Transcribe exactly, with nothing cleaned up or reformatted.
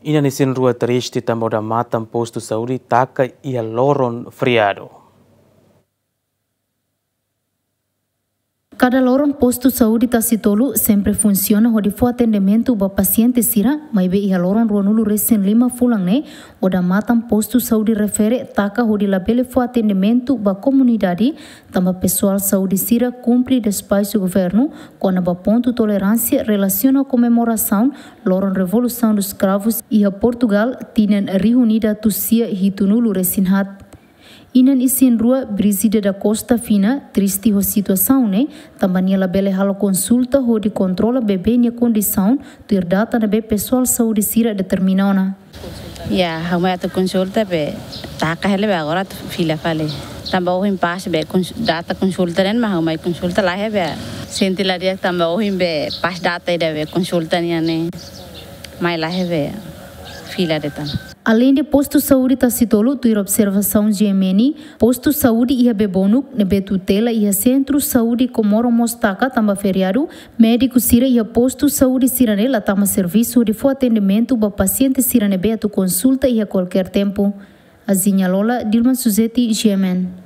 Inan isin rua triste tanba odamatan postu saúde taka iha loron feriadu. Kada loron postu saúde Tasitolu sempre funsiona hodi fó atendimentu ba pasiente sira, maibé iha loron ruanulu resin lima fulan ne'e, odamatan postu saúde refere taka hodi labele fó atendimentu ba komunidade, tanba pesoál saúde sira kumpre despaxu governu kona-ba pontu toleránsia relasiona komemorasaun loron Revolução dos Cravos iha Portugal, tinan rihun ida atus sia hitunulu resin haat. Inan isin rua Brígida da Costa Fina triste ho situasaun ne'e, tanba nia labele halo konsulta hodi kontrola bebé nia kondisaun, tuir data ne'ebé pesoál saúde sira determina ona. Ya, ha'u mai atu konsulta be taka hela be agora atu fila fali. Tanba ohin pas be kons-, data konsulta ne'e mak ha'u mai konsulta laiha be. Sente la di'ak tanba ohin be pas data ida be konsulta nian ne'e. Mai laiha be fila de'it tan. Aleinde postu saúde Tasitolu, tuir observasaun G M N, postu saúde iha Bebonuk ne'ebé tutela iha Sentru Saúde Comoro mós taka tanba feriadu, médiku sira iha postu saúde sira-ne'e la tama servisu hodi fó atendimentu ba pasiente sira ne'ebé atu konsulta iha kualkér tempu. Aziña Lola, Dilma Suzeti, G M N.